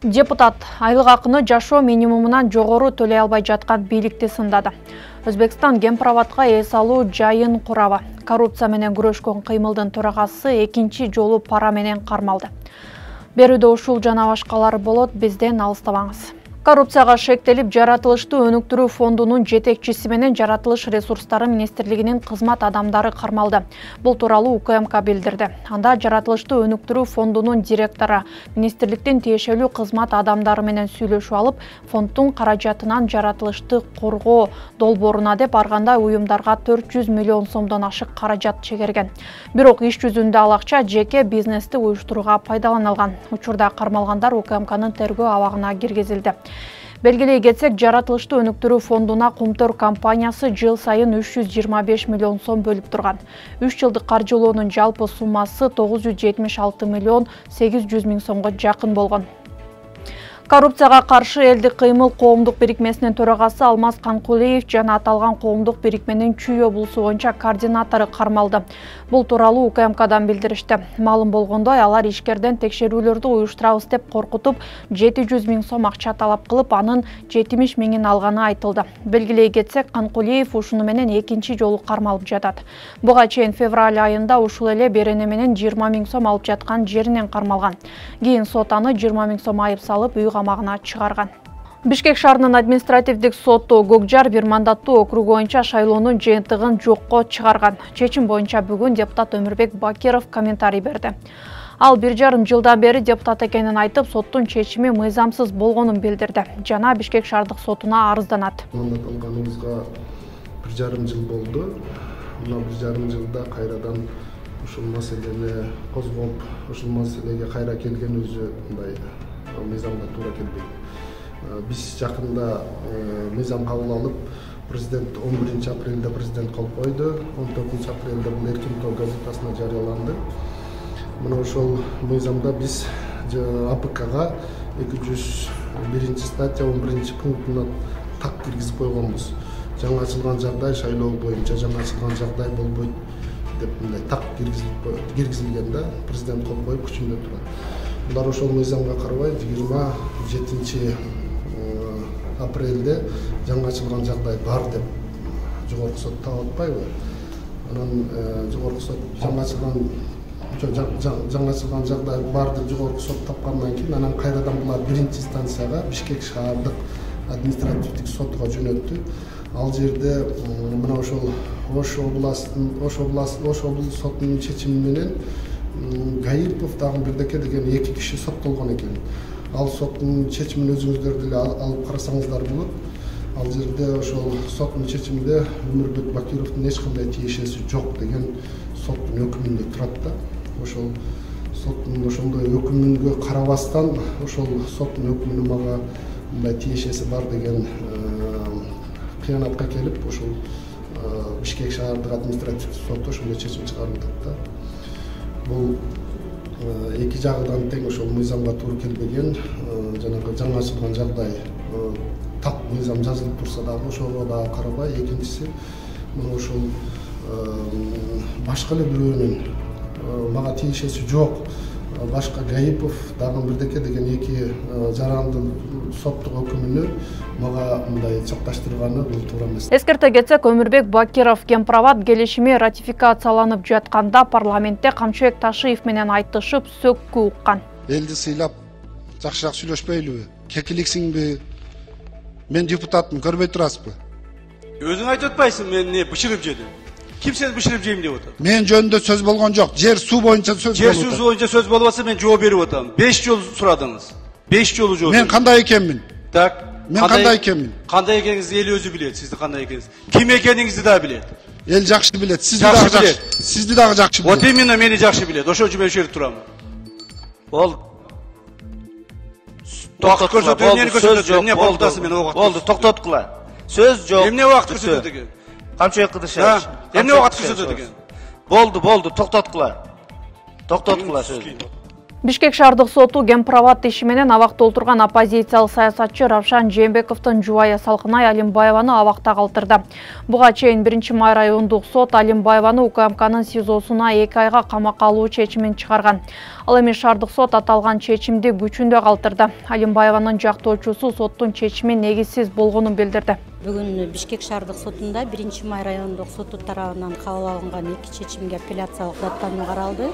Депутат айлык акыны жашоо минимумунан жогору төлөй албай жаткан бийликти сындады. Өзбекстан Гемпроводко эс алуу жайын курабы. Коррупция менен күрөшкөн кыймылдын төрагасы экинчи жолу пара менен кармалды. Берүүдө ушул жана башкалар болот, бизден алыстабаңыз. Коррупцияга шектелип жаратылыштуу өнүктүрүү фондунун жетекчиси менен жаратылыш ресурстары министрлигинин кызмат адамдары кармалды. Бул тууралуу УКМК билдирди. Анда жаратылыштуу өнүктүрүү фондунун директору министрликтин тиешелүү кызмат адамдары менен сүйлөшүп алып, фонддун каражатынан жаратылышты коргоо долбооруна деп ар кандай уюмдарга 400 миллион сомдон ашык каражат чегерген. Бирок иш жүзүндө ал акча жеке бизнести уюштурууга пайдаланылган. Учурда кармалгандар УКМКнын тергөө абагына киргизилди. Белгилей кетсек, жаратылыштуу өнүктүрүү фондуна Кумтөр компаниясы жыл сайын 325 миллион сом бөлүп турган. 3 жылдык каржылоонун жалпы суммасы 976 миллион 800 миң сомго жакын болгон. Коррупцияга каршы элдик кыймыл коомдук бирикмесинин төрагасы Алмаз Канкулиев жана аталган коомдук бирикменин Чүй облусу боюнча координатору кармалды. Бул тууралуу УКМКдан билдиришти. Маалым болгондой, алар ишкерден текшерүүлөрдү уюштурабыз деп коркутуп, 700 миң сом акча талап кылып, анын 70 миңин алганы айтылды. Белгилей кетсек, Канкулиев ушуну менен экинчи жолу кармалып жатат. Буга чейин февраль айында ушул эле берене менен 20 миң сом алып жаткан жеринен кармалган. Кийин сот аны 20 миң сом айып салып, үй камагына чыгарган. Бишкек шаарынын административдик соту Гокжар бир мандаттуу округу боюнча шайлоонун жыйынтыгын жокко чыгарган. Чечим боюнча бүгүн депутат Өмүрбек Бакиров комментарий берди. Ал 1,5 жылдан бери депутат экенин айтып, соттун чечими мыйзамсыз болгонун билдирди. Жана Бишкек шаардык сотуна арызданат. Мандат алганыбызга 1,5 жыл болду. Мына 1,5 жылда кайрадан ушул маселени козгоп, ушул маселеге кайра келген өзү мындай мыйзамга туура келбейт. Биз жакында мыйзам кабыл алып, президент 11 апрелде президент кол койду. 14 апрелде бул Эркин тоо газетасына жарыяланды. Мына ошол мыйзамда биз АПКга 201 статья 11 пунктуна так киргизип койгонбуз. Жаңы ачылган жагдай шайлоо боюнча жаңы ачылган жагдай болбойт деп мындай так киргизилген да, президент кол коюп күчүндө турат. Булар ошол мыйзамга карабай 27 апрелде жаңы ачылган жагдай бар деп жогорку сот таап атпайбы? Анан жогорку сот жаңы ачылган жагдай бар деп жогорку сот тапкандан кийин анан кайрадан булар биринчи станцияга Бишкек шаардык административдик сотуга жөнөттү. Ал жерде мына ошол Ош облус сотунун чечими менен Гаипов дагы бирдеке деген 2 киши соттолгон экен. Ал соттун чечимин өзүңүздөр деле алып карасаңыздар болот. Ал жерде ошол соттун чечиминде Өмүрбек Бакировдун эч кандай тиешеси жок деген соттун өкүмүндө турат да. Ошол соттун ошондой өкүмүнгө карабастан ошол соттун өкүмүнүн мага мындай тиешеси бар деген кыянатка келип, ошол Бишкек шаардык административдик соту ошондой чечим чыгарып атат да. Бул эки жагынан тең ошол мыйзамга туура келбеген, жанагы жаңы ачылган жагдай так мыйзам жазылып турса дагы ошого дагы карабай, экинчиси мына ошол башка эле бирөөнүн мага тиешеси жок, башка Гаипов дагы бирдеке деген 2 жарандын соттук өкүмүнү мага мындай чоктоштурганы бул туура эмес. Эскерте кетсек, Өмүрбек Бакиров Гемпровод келишими ратификацияланып жатканда парламентте Камчыбек Ташиев менен айтышып, сөккү уккан. Элди сыйлап, жакшыраак сүйлөшпөйлүбү? Кекиликсиңби? Мен депутатмын, көрбөй турасызбы? Өзүң айтып атпайсың, мен эмне бышырып жедим? Ким сени бышырып жейм деп атат? Мен жөнүндө сөз болгон жок. Жер суу боюнча сөз болуп атат. Жер суу боюнча сөз болуп атса, мен жооп берип атам. 5 жол сурадыңыз. 5 жолу жооп. Мен кандай экенмин? Так. Мен кандай экенмин? Кандай экениңизди эл өзү билет, сизди кандай экениңизди. Ким экениңизди да билет. Эл жакшы билет, сизди дагы жакшы. Сизди дагы жакшы билет. Вот именно мени жакшы билет. Ошол үчүн мен ушул жерде турам. Бол. Токтот көрсөтүү, эмнени көрсөтөт? Эмне болдасы мен убакыт. Болду, токтоткула. Сөз жок. Эмне убакыт көрсөтөт экен? Камчыбек Кыдышевич. Эмне убакыт көрсөтөт экен? Болду, токтоткула. Токтоткула сөз. Бишкек шаардык соту Гемпроват иши менен абакта отурган оппозициялык саясатчы Равшан Жээнбековдун жубайы Салкынай Алимбаеваны абакта калтырды. Буга чейин 1-май райондук сот Алимбаеваны УКМКнын СИЗОсуна 2 айга камакка алуу чечимин чыгарган. Ал эми шаардык сот аталган чечимди күчүндө калтырды. Алимбаеванын жактоочусу соттун чечими негизсиз болгонун билдирди. Бүгүн Бишкек шаардык сотунда 1-май райондук соту тарабынан кабыл алынган 2 чечимге апелляциялык даттануу каралды.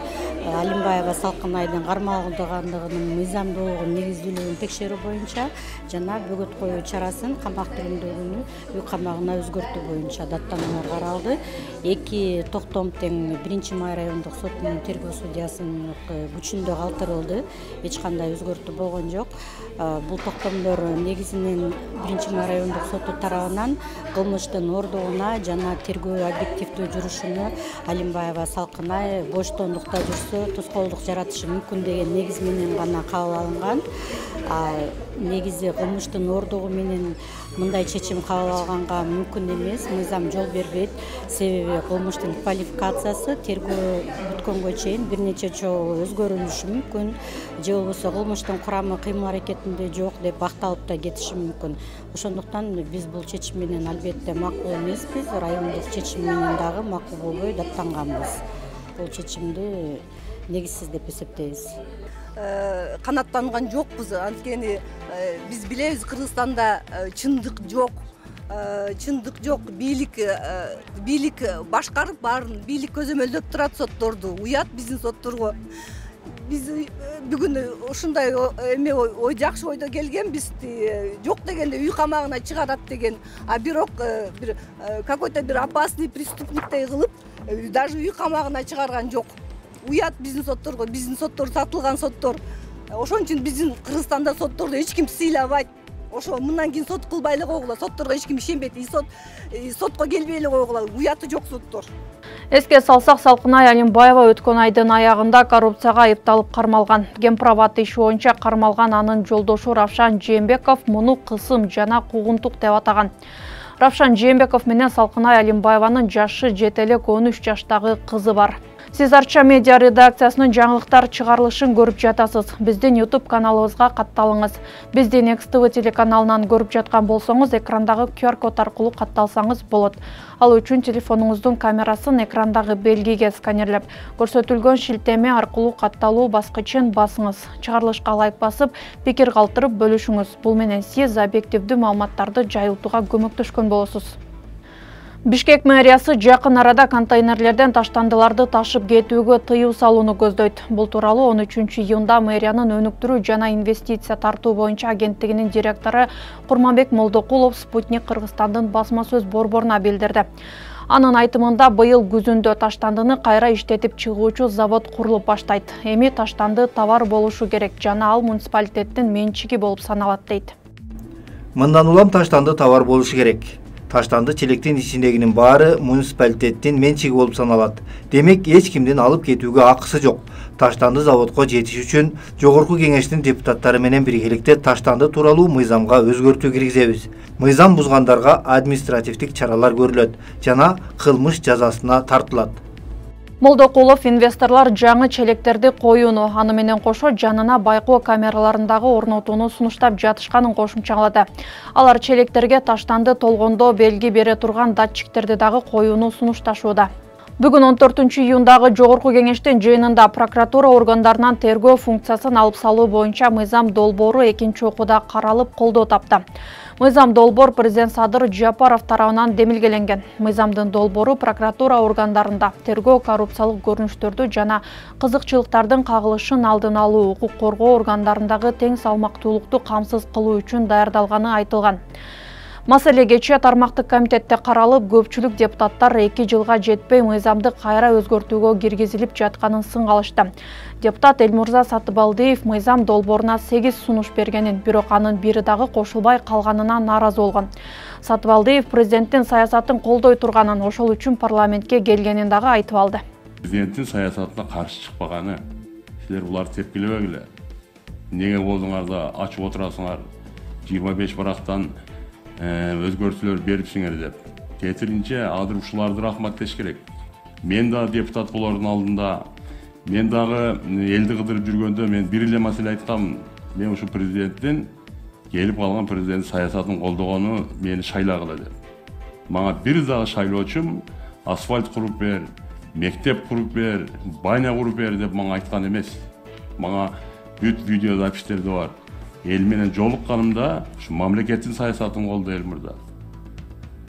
Алимбаева Салкынайдын кармалгандыгынын мыйзамдуулугун негиздүүлүгүн текшерүү боюнча жана бөгөт коюу чарасын камак түрүндөгүнү үй камагына өзгөртүү боюнча даттануулар каралды. 2 токтом тең 1-май райондук сотунун тергөө судьясынын күчүндө калтырылды. Эч кандай өзгөртүү болгон жок. Бул токтомдор негизинен 1-май райондук соту тарабынан кылмыштын ордугуна жана тергөө объективдүү жүрүшүнө Алимбаева Салкынай боштондукта жүрсө тоскоолдук жаратышы мүмкүн деген негиз менен гана кабыл алынган. Негизи кылмыштын ордугу менен мындай чечим кабыл алганга мүмкүн эмес, мыйзам жол бербейт. Себеби кылмыштын квалификациясы тергөө бүткөнгө чейин бир нече жолу өзгөрүлүшү мүмкүн, же болбосо кылмыштын курамы кыймыл аракетинде жок деп бакталып да кетиши мүмкүн. Ошондуктан биз бул чечим менен албетте макул эмеспиз, райондук чечим менен дагы макул болбой даттанганбыз. Бул чечимди негизсиз деп эсептейбиз. Канаттанган жокпуз. Анткени биз билебиз, Кыргызстанда чындык жок. Чындык жок. Бийлик башкарып баарын, бийлик көзөмөлдөп турат сотторду. Уят биздин сотторго. Биз бүгүн ушундай эме ой жакшы ойдо келгенбиз. Жок дегенде үй камагына чыгарат деген. А бирок бир какой-то бир опасный преступниктей кылып, даже үй камагына чыгарган жок. Уят биздин сотторго, биздин соттор сатылган соттор. Ошон үчүн биздин Кыргызстанда сотторду эч ким сыйлабайт. Ошо мындан кийин сот кылбай эле койгула, сотторго эч ким ишенбейт. Сотко келбей эле койгула, уяты жок соттор. Эске салсак, Салкынай Алимбаева өткөн айдын аягында коррупцияга айыпталып кармалган. Гемпроват иши боюнча кармалган анын жолдошу Равшан Жээнбеков муну кысым жана куугунтук деп атаган. Равшан Жээнбеков менен Салкынай Алимбаеванын жашы жете элек 13 жаштагы кызы бар. Сиз Арча медиа редакциясынын жаңылыктар чыгарылышын көрүп жатасыз. Биздин YouTube каналыбызга катталыңыз. Бизди Next TV телеканалынан көрүп жаткан болсоңуз, экрандагы QR-код аркылуу катталсаңыз болот. Ал үчүн телефонуңуздун камерасын экрандагы белгиге сканерлеп, көрсөтүлгөн шилтеме аркылуу катталуу баскычын басыңыз. Чыгарылышка лайк басып, пикир калтырып бөлүшүңүз. Бул менен сиз объективдүү маалыматтарды жайылтууга көмөктөшкөн болосуз. Бишкек мэриясы жакын арада контейнерлерден таштандыларды ташып кетүүгө тыюу салууну көздөйт. Бул тууралуу 13-июнда мэриянын өнүктүрүү жана инвестиция тартуу боюнча агенттигинин директору Курманбек Молдокулов Спутник Кыргызстандын басма сөз борборуна билдирди. Анын айтымында быйыл күзүндө таштандыны кайра иштетип чыгуучу завод курулуп баштайт. Эми таштанды товар болушу керек жана ал муниципалитеттин менчиги болуп саналат дейт. Мындан улам таштанды товар болушу керек. Таштанды челектин ичиндегинин баары муниципалитеттин менчиги болуп саналат. Демек, эч кимдин алып кетүүгө акысы жок. Таштанды заводко жетиш үчүн жогорку кеңештин депутаттары менен биргеликте таштанды тууралуу мыйзамга өзгөртүү киргизебиз. Мыйзам бузгандарга административдик чаралар көрүлөт жана кылмыш жазасына тартылат. Молдокулов инвесторлор жаңы челектерди коюуну, аны менен кошо жанына байкоо камераларындагы орнотууну сунуштап жатышканын кошумчалады. Алар челектерге таштанды толгондо белги бере турган датчиктерди дагы коюуну сунушташууда. Бүгүн 14-июндагы жогорку кеңештин жыйынында прокуратура органдарынан тергөө функциясын алып салуу боюнча мыйзам долбоору экинчи окууда каралып колдоо тапты. Мыйзам долбоор президент Садыр Жапаров тарабынан демилгеленген. Мыйзамдын долбоору прокуратура органдарында тергөө коррупциялык көрүнүштөрдү жана кызыкчылыктардын кагылышын алдын алуу, укук коргоо органдарындагы тең салмактуулукту камсыз кылуу үчүн даярдалганы айтылган. Маселе кечээ тармактык комитетте каралып, көпчүлүк депутаттар 2 жылга жетпей мыйзамды кайра өзгөртүүгө киргизилип жатканын сынгалышты. Депутат Элмурза Сатыбалдиев мыйзам долбооруна 8 сунуш бергенин, бирок анын бири дагы кошулбай калганына нааразы болгон. Сатыбалдиев президенттин саясатын колдой турганын, ошол үчүн парламентке келгенин дагы айтып алды. Президенттин саясатына каршы чыкпаганы, силер буларды тепкилебегиле. Неге болдуңар ачып отурасыңар? 25 барактан өзгөртүүлөр берипсиңер деп. Кетиринче адыр ушуларды рахматтеш керек. Мен да депутат болордун алдында Мен дагы элди кыдырып жүргөндө мен бир эле маселе айткам. Мен ушу президенттин келип калган президент саясатын колдогону мени шайлагыла деп. Мага бир дагы шайлоочум асфальт куруп бер, мектеп куруп бер, баня куруп бер деп мага айткан эмес. Мага бүт видеозаписьтерде бар. Эл менен жолукканымда ушу мамлекеттин саясатын колдо эл мырза.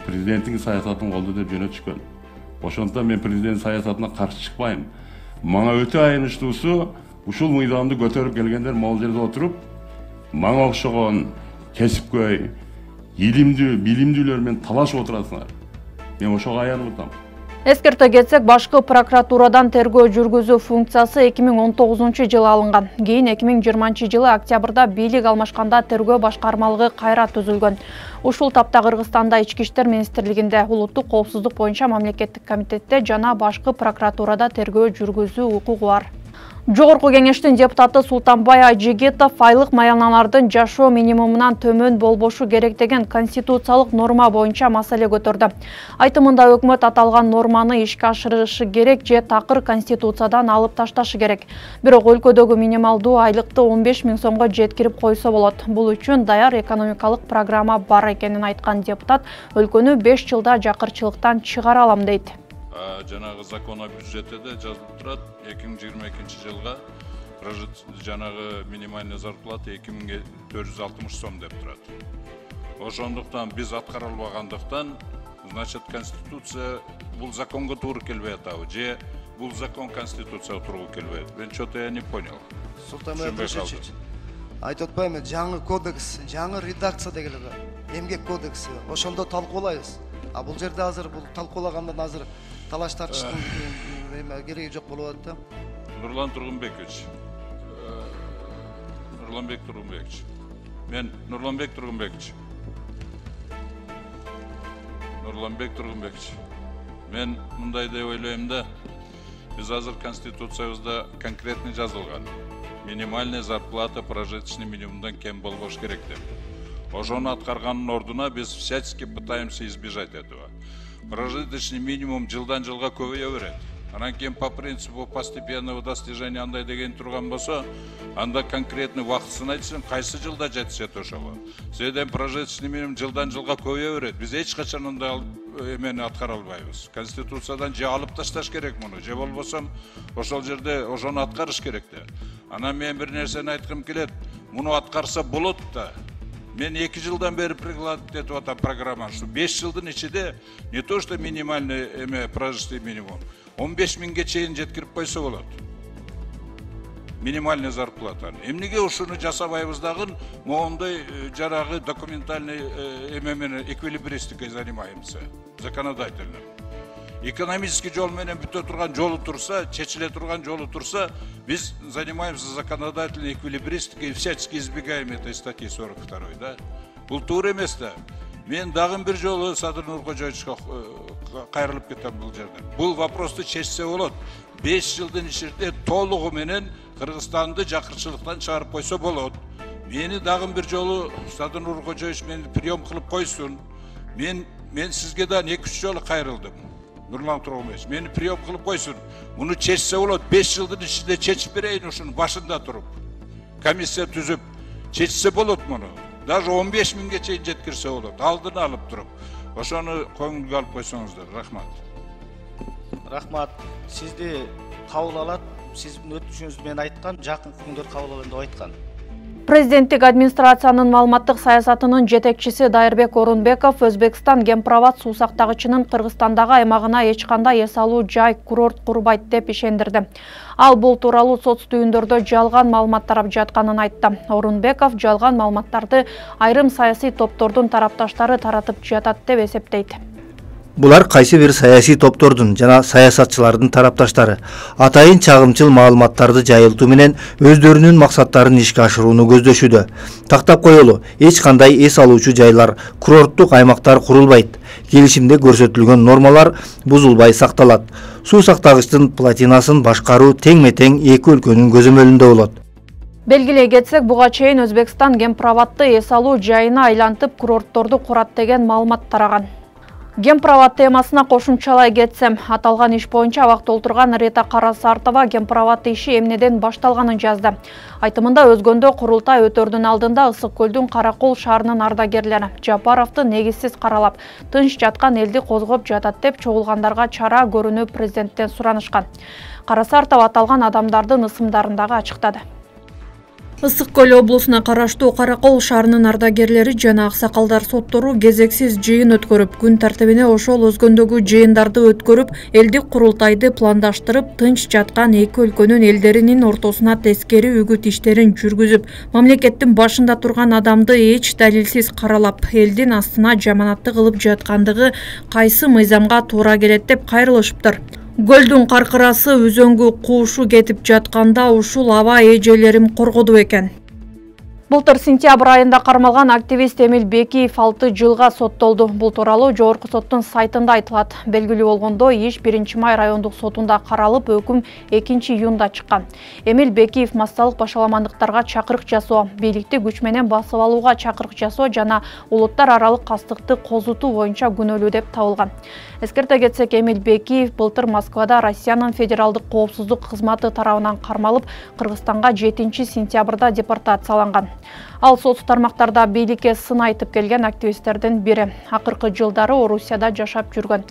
Президенттин саясатын колдо деп жөнөтүшкөн. Ошондуктан мен президент саясатына каршы чыкпайм. Мага өтө аянычтуусу ушул мыйзамды көтөрүп келгендер могул жерде отуруп, мага окшогон кесипкөй, илимдүү, билимдүүлөр менен талашып отурасыңар. Мен ошого аянып атам. Эскерте кетсек, башкы прокуратурадан тергөө жүргүзүү функциясы 2019-жылы алынган. Кийин 2020-жылы октябрда бийлик алмашканда тергөө башкармалыгы кайра түзүлгөн. Ушул тапта Кыргызстанда Ички иштер министрлигинде, улуттук коопсуздук боюнча мамлекеттик комитетте жана башкы прокуратурада тергөө жүргүзүү укугу бар. Жогорку кеңештин депутаты Султанбай Айжигитов айлык маяналардын жашоо минимумунан төмөн болбошу керек деген конституциялык норма боюнча маселе көтөрдү. Айтымында өкмөт аталган норманы ишке ашырышы керек же такыр конституциядан алып ташташы керек. Бирок өлкөдөгү минималдуу айлыкты 15 000 сомго жеткирип койсо болот. Бул үчүн даяр экономикалык программа бар экенин айткан депутат өлкөнү 5 жылда жакырчылыктан чыгара алам дейт. Жанагы закон о бюджете де жазылып турат. 2022 жылга жанагы минимальный зарплата 2460 сом деп турат. Ошондуктан биз аткара албагандыктан, значит, конституция бул законго туура келбей атабы же бул закон конституцияга туура келбейт. Мен что-то я не понял. Султанбай Абдышевич, айтып атпаймынбы, жаңы кодекс, жаңы редакция деген эмгек кодекси. Ошондо талкуулайбыз. А бул жерде азыр бул талкуулагандан азыр талаш тартыштын кереги жок болуп атат да. Нурлан Тургунбекович. Мен Нурланбек Тургунбекович. Мен мындай деп ойлойм да, биз азыр конституциябызда конкретный жазылган. Минимальная зарплата прожиточный минимумдан кем болбош керек деп. Ошону аткарганын ордуна биз всячески пытаемся избежать этого. Прожиточный минимум жылдан жылга көбөйө берет. Анан кийин по принципу постепенного достижения андай деген турган болсо, анда конкретный убактысын айтсаң, кайсы жылда жетишет ошого. Себеби прожиточный минимум жылдан жылга көбөйө берет. Биз эч качан андай эмени аткара албайбыз. Конституциядан же алып ташташ керек муну, же болбосо ошол жерде ошону аткарыш керек да. Анан мен бир нерсени айткым келет. Муну аткарса болот да. Мен 2 жылдан бери прикладывать эту программу, что 5 жылдын ичинде не то что минимальный прожиточный минимум, 15 000 чейин жеткирип койсо болот. Минимальный зарплата. Эмнеге ушуну жасабайбыз дагы, моундай жарагы документальный менен эквилибристикой занимаемся, законодательно. Экономический жол менен бүтө турган жолу турса, чечиле турган жолу турса, биз занимаемся законодательной эквилибристикой и всячески избегаем этой статьи 42, да? Бул туура эмес да. Мен дагы бир жолу Садыр Нуркожоевичке кайрылып кетем бул жерден. Бул вопросту чечсе болот. 5 жылдын ичинде толугу менен Кыргызстанды жакырчылыктан чыгарып койсо болот. Мени дагы бир жолу Садыр Нуркожоевич мени прием кылып койсун. Мен сизге да 2-3 жолу кайрылдым. Нурлан Тургунбекович, мени прием кылып койсун. Муну чечсе болот. 5 жылдын ичинде чечип берейин ушуну башында туруп. Комиссия түзүп чечсе болот муну. Даже 15 000 чейин жеткирсе болот. Алдын алып туруп. Ошону көңүлгө алып койсоңуздар. Рахмат. Рахмат. Сизди кабыл алат. Сиздин өтүшүңүздү мен айткан, жакын күндөр кабыл алам деп айткан. Президенттик администрациянын маалыматтык саясатынын жетекчиси Дайырбек Орунбеков Өзбекстан гемпровод суу сактагычынын Кыргызстандагы аймагына эч кандай эс алуу жай курорт курбайт деп ишендирди. Ал бул тууралуу соц түйүндөрдө жалган маалымат тарап жатканын айтты. Орунбеков жалган маалыматтарды айрым саясий топтордун тарапташтары таратып жатат деп эсептейт. Булар кайсы бир саясий топтордун жана саясатчылардын тарапташтары атайын чагымчыл маалыматтарды жайылтуу менен өздөрүнүн максаттарын ишке ашырууну көздөшүүдө. Тактап коелу, эч кандай эс алуучу жайлар, курорттук аймактар курулбайт. Келишимде көрсөтүлгөн нормалар бузулбай сакталат. Суу сактагычтын платинасын башкаруу тең-метең эки өлкөнүн көзөмөлүндө болот. Белгилей кетсек, буга чейин Өзбекстан гемпроводду эс алуу жайына айлантып курортторду курат деген маалымат тараган. Гемпровод темасына кошумчалай кетсем, аталган иш боюнча абакта отурган Рита Карасартова гемпровод иши эмнеден башталганын жазды. Айтымында өзгөндө курултай өтөрдүн алдында Ысык көлдүн Каракол шаарынын ардагерлери Жапаровду негизсиз каралап, тынч жаткан элди козгоп жатат деп чогулгандарга чара көрүүнү президенттен суранышкан. Карасартова аталган адамдардын ысымдарын дагы ачыктады. Ысык көл облусуна караштуу Каракол шаарынын ардагерлери жана аксакалдар соттору кезексиз жыйын өткөрүп, күн тартибине ошол өзгөндөгү жыйындарды өткөрүп, элдик курултайды пландаштырып, тынч жаткан эки өлкөнүн элдеринин ортосуна тескери үгүт иштерин жүргүзүп, мамлекеттин башында турган адамды эч далилсиз каралап, элдин астына жаманатты кылып жаткандыгы кайсы мыйзамга туура келет деп кайрылышыптыр. Көлдүн каркырасы өзөнгө куушу кетип жатканда ушул аба эжелерим коргоду экен. Былтыр сентябрь айында кармалган активист Эмил Бекиев 6 жылга соттолду. Бул тууралуу жогорку соттун сайтында айтылат. Белгилүү болгондо, иш 1-май райондук сотунда каралып, өкүм 2-июнда чыккан. Эмил Бекиев массалык башаламандыктарга чакырык жасоо, бийликти күч менен басып алууга чакырык жасоо жана улуттар аралык кастыкты козутуу боюнча күнөөлүү деп табылган. Эскерте кетсек, Эмил Бекиев былтыр Москвада Россиянын федералдык коопсуздук кызматы тарабынан кармалып, Кыргызстанга 7-сентябрда депортацияланган. Ал соц тармактарда бийликке сын айтып келген активисттердин бири. Акыркы жылдары Орусияда жашап жүргөн.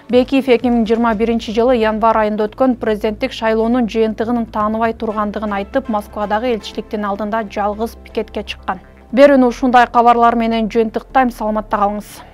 Бекиев 2021 жылы январь айында өткөн президенттик шайлоонун жыйынтыгын тааныбай тургандыгын айтып, Москвадагы элчиликтин алдында жалгыз пикетке чыккан. Берүүнү ушундай кабарлар менен жыйынтыктайм, саламатта калыңыз.